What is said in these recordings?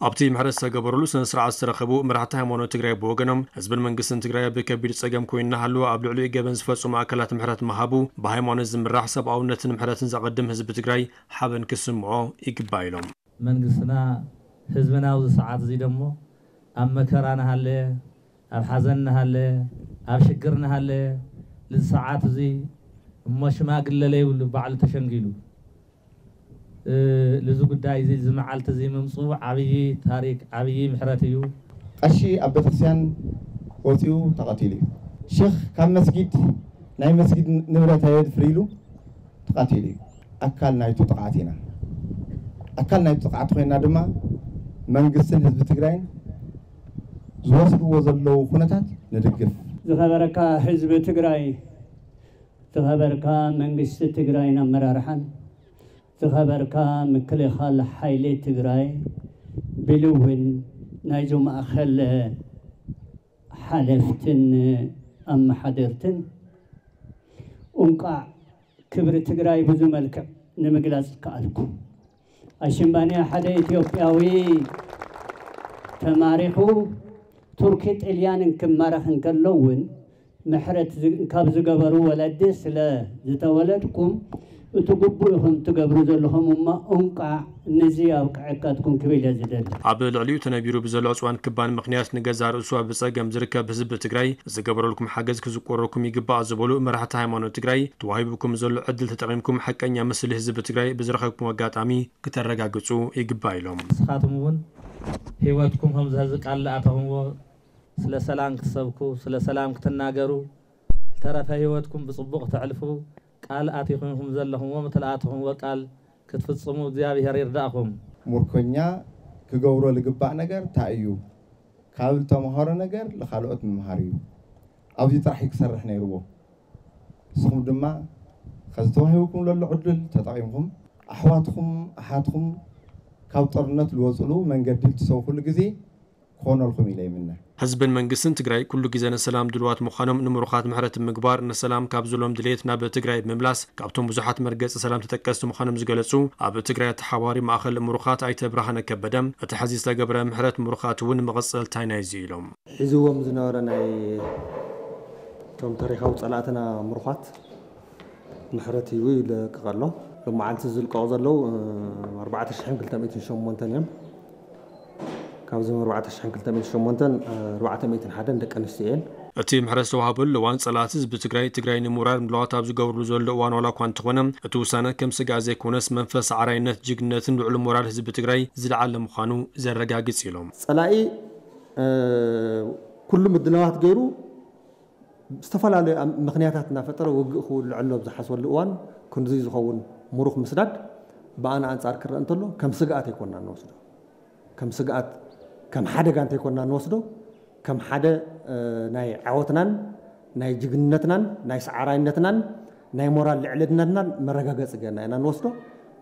ኣብቲ ምሕረት ዝተገበረሉ ስነ ስርዓት ዝተረኸቡ መራሕቲ ሃይማኖት ትግራይ ብወገኖም፣ ህዝብን መንግስትን ትግራይ ኣብ ከቢድ ጸገም ኮይኑ እናሃለወ ኣብ ልዕሊኡ ገበን ዝፈጸሙ ኣካላት ምሕረት ምሃቡ፣ ብሃይማኖት ዝምራሕ ሰብኣውነትን ምሕረትን ዘቐድም ህዝቢ ትግራይ ሓበን ክስምዖ ይግባእ ኢሎም። መንግስትና ህዝብና ኣብዚ ሰዓት እዚ ደሞ ኣብ መከራ እናሃለየ፣ ኣብ ሓዘን እናሃለየ፣ ኣብ ሽግር እናሃለየ፣ ልዚ ሰዓት እዚ እሞ ሽማግለ ለይብሉ ባዕሉ ተሸንጊሉ፣ እ፣ ልዚ ጉዳይ እዚ፣ እዚ መዓልቲ እዚ ምምፅኡ ዓብዪ ታሪክ፣ ዓብዪ ምሕረት እዩ። ቀሺ ኣብ ቤተክርስትያን ወፂኡ ተቐቲሉ እዩ። ሼኽ ካብ መስጊድ፣ ናይ መስጊድ ንብረት ኣየድፍር ኢሉ ተቐቲሉ እዩ። ኣካል ናይቱ ጥቕዓት ኢና። ኣካል ናይቱ ጥቕዓት ኮይና ድማ መንግስትን ህዝቢ ትግራይን ዝወስድዎ ዘለዉ ኩነታት ንድግፍ። ዝኸበረካ ህዝቢ ትግራይ፣ ዝኸበርካ መንግስቲ ትግራይን ኣመራርሓን፣ ዝኸበርካ ምክልኻል ሓይሊ ትግራይ፣ ብሉ እውን ናይዞ ማእኸል ሓለፍትን ኣመሓደርትን፣ እንቋዕ ክብሪ ትግራይ ብዙ መልክዕ ንምግላፅ ከኣልኩ። ኣሽምባንያ ሓደ ኢትዮጵያዊ ተማሪኹ ቱርኪ ጥልያንን ክማረኽ እንከሎ እውን ምሕረት ዝ-፣ ካብ ዝገበሩ ወለዲ ስለ ዝተወለድኩም እቲ ግቡእ ኢኹም ትገብሩ ዘለኹም እሞ እንቋዕ ንዚ ኣብቅዐካትኩም ክብል እየ ዝደሊ። ኣብ ልዕሊኡ ተነቢሩ ብዘሎ ዕፅዋን ክባን ምኽንያት ንገዛእ ርእሱ ኣብ ፀገም ዝርከብ ህዝቢ ትግራይ ዝገበረልኩም ሓገዝ ክዝቆረኩም ይግባእ ዝበሉ መራሕቲ ሃይማኖት ትግራይ፣ ተዋሂቡኩም ዘሎ ዕድል ተጠቒምኩም ሓቀኛ ምስሊ ህዝቢ ትግራይ ብዝረኸብኩም ኣጋጣሚ ክተረጋግፁ ይግባእ ኢሎም። ንስኻትኩም እውን ህይወትኩም ከምዚ ሕዚ ቃል ዝኣተኹምዎ ስለ ሰላም ክትሰብኩ፣ ስለ ሰላም ክትናገሩ፣ ዝተረፈ ህይወትኩም ብጽቡቕ ተዕልፉ ቃል ኣቲኹምኩም ዘለኹምዎ፣ ምትልኣትኹምዎ ቃል ክትፍጽሙ እግዚኣብሔር ይርዳእኹም። ሙርኮኛ ክገብሮ ልግባእ ነገር እንታይ እዩ? ካብ ዝተምሃሮ ነገር ንኻልኦት ምምሃር እዩ። ኣብዚ ጥራሕ እዩ ክሰርሕ ነይርዎ። ንስኹም ድማ ከዚ ተዋሂብኩም ለሎ ዕድል ተጠቒምኩም ኣሕዋትኩም ኣሓትኩም ካብ ጦርነት ልወፅሉ መንገዲ ልትሰውኹሉ ግዜ ክኾነልኩም ኢለ ይምነ። ህዝብን መንግስትን ትግራይ ኩሉ ግዜ ንሰላም ድልዋት ምዃኖም ንምሩኻት ምሕረት ብምግባር ንሰላም ካብ ዝሎም ድሌት ናብ ትግራይ ብምምላስ ካብቶም ብዙሓት መርገፂ ሰላም ተጠቀስቲ ምዃኖም ዝገለፁ ኣብ ትግራይ ተሓባሪ ማእኸል ምሩኻት ኣይተ ብርሃነ ከበደ እቲ ሕዚ ዝተገብረ ምሕረት ምሩኻት እውን መቐፀልታ ናይዚ ኢሎም። ሒዝዎም ዝነበረ ናይ እቶም ታሪኻዊ ጸላእትና ምሩኻት ምሕረት ሂቡ ይለቅቕ ኣሎ። ሎም መዓልቲ ዝልቀቑ ዘለዉ፣ እ፣ ኣርባዕተ ሽሕን ክልተ ሚእትን ሸሞንተን እዮም። ካብዞም ኣርባዕተ ሽሕን ክልተ ሚእትን ሸሞንተን፣ እ፣ ኣርባዕተ ሚእትን ሓደን ደቂ ኣንስትዮ እየን። እቲ ምሕረት ዝተዋህበሉ እዋን ጸላእቲ ህዝቢ ትግራይ፣ ትግራይ ንምውራር ምድላዋት ኣብ ዝገብርሉ ዘሎ እዋን ዋላ እኳ እንተኾነ፣ እቲ ውሳነ ከም ስግኣት ዘይኮነስ መንፈስ ሰዓራይነት፣ ጅግንነትን ልዑል ሞራል ህዝቢ ትግራይ ዝለዓለ ምዃኑ ዘረጋግጽ ኢሎም። ጸላኢ፣ እ፣ ኩሉ ምድላዋት ገይሩ ዝተፈላለዩ ኣም-፣ ምኽንያታት እናፈጠረ ውግእ ክውልዐሉ ኣብ ዝሓስበሉ እዋን ክንድዚ ዝኸውን ምሩኽ ምስዳድ ብኣና ኣንጻር ክረአ እንተሎ ከም ስግኣት ኣይኮንና ንወስዶ። ከም ስግኣት፣ ከም ሓደጋ እንተይኮንና ንወስዶ፣ ከም ሓደ፣ እ፣ ናይ ዓወትናን ናይ ጅግንነትናን ናይ ሰዓራይነትናን ናይ ሞራል ልዕልነትናን መረጋገጺ ጌርና ኢና ንወስዶ።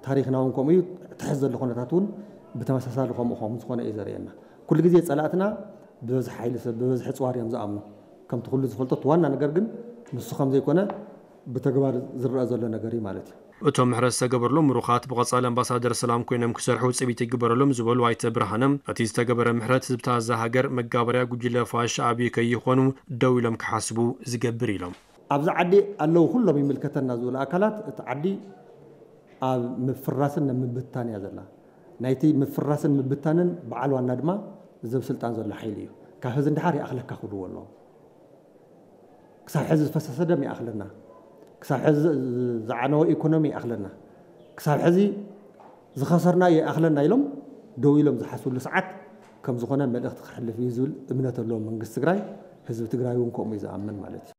ታሪኽና እውን ከምኡ እዩ። እቲ ሕዚ ዘሎ ኩነታት እውን ብተመሳሳሊ ከምኡ ከም ዝኾነ እዩ ዘርእየና። ኩሉ ግዜ ጸላእትና ብበዝሒ ሓይሊ ሰብ፣ ብበዝሒ ጽዋር እዮም ዝኣምኑ። ከምቲ ኩሉ ዝፈልጦ፣ እቲ ዋና ነገር ግን ንሱ ከም ዘይኮነ ብተግባር ዝረአ ዘሎ ነገር እዩ ማለት እዩ። እቶም ምሕረት ዝተገበረሎም ምሩኻት ብቐጻሊ ኣምባሳደር ሰላም ኮይኖም ክሰርሑ ውጽኢት ይግበረሎም ዝበሉ ኣይተ ብርሃነ፣ እቲ ዝተገበረ ምሕረት ህዝብታት እዛ ሃገር መጋበርያ ጉጅለ ፋሽ ኣብዩ ከይኾኑ ደው ኢሎም ክሓስቡ ዝገብር ኢሎም። ኣብዚ ዓዲ ኣለዉ ኩሎም ይምልከተና ዝብሉ ኣካላት፣ እቲ ዓዲ ኣብ ምፍራስን ኣብ ምብታን እያ ዘላ። ናይቲ ምፍራስን ምብታንን በዓል ዋና ድማ እዚ ኣብ ስልጣን ዘሎ ሓይሊ እዩ። ካብ ሕዚ ንድሓር ይኣኽለካ ክብልዎ ኣለዎም። ክሳብ ሕዚ ዝፈሰሰ ደም ይኣኽለና፣ ክሳብ ሕዚ ዝዓነወ ኢኮኖሚ ይኣኽለና፣ ክሳብ ሕዚ ዝኸሰርና ይኣኽለና ኢሎም ደው ኢሎም ዝሓስብሉ ሰዓት ከም ዝኾነ መልእኽቲ ክሕልፍ እዩ ዝብል እምነት ኣለዎም መንግስቲ ትግራይ። ህዝቢ ትግራይ እውን ከምኡ እዩ ዝኣምን ማለት እዩ።